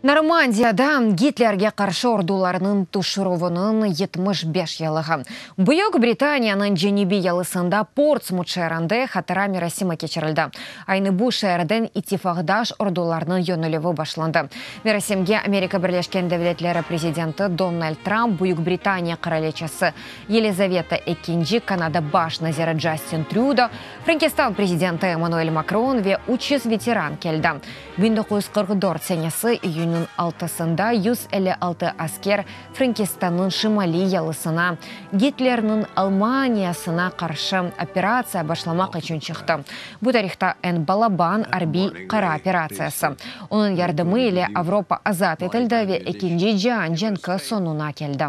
Normandiyada Gitlerge qarşı ordularnıñ tüşürüviniñ 75 yıllığı. Büyük Britaniyanıñ cenübiy yalısında Portsmut şeerinde hatıra merasimi keçirildi. Aynı bu şeerden ittifaqdaş ordularnıñ yönelüvi başlandı. Merasimge Amerika Birleşken Devletleri prezidenti Donald Trump, Büyük Britaniya qıraliçesi Yelizaveta Ekinci, Kanada baş naziri Justin Trüdo, Frenkistan prezidenti Emmanuel Makron ve 300 veteran keldi. 1944 senesi iyünniñ altısında 156 asker Frenkistannıñ şimaliy yalısına Gitlerniñ Almaniyasına qarşı operatsiya başlamaq içün çıqtı. Bu tarihta eñ balaban arbiy qara operatsiyası. Onıñ yardımı ile Avropa azat etildi ve Ekinci cian cenki soñuna keldi.